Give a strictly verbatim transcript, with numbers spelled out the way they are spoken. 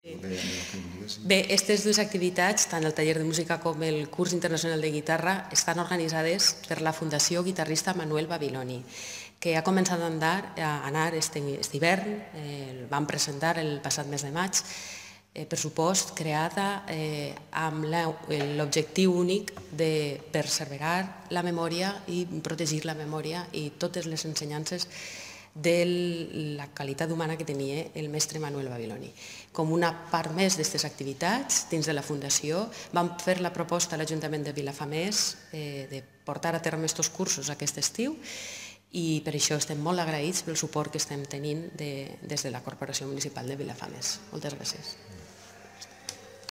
Bé, aquestes dues activitats, tant el taller de música com el curs internacional de guitarra, estan organitzades per la Fundació Guitarrista Manuel Babiloni, que ha començat a andar, a anar aquest hivern, el vam presentar el passat mes de maig, per supost, creada amb l'objectiu únic de perseverar la memòria i protegir la memòria i totes les ensenyances de la qualitat humana que tenia el mestre Manuel Babiloni. Com una part més d'aquestes activitats, dins de la Fundació, vam fer la proposta a l'Ajuntament de Vilafamés de portar a terme aquests cursos aquest estiu i per això estem molt agraïts pel suport que estem tenint des de la Corporació Municipal de Vilafamés. Moltes gràcies.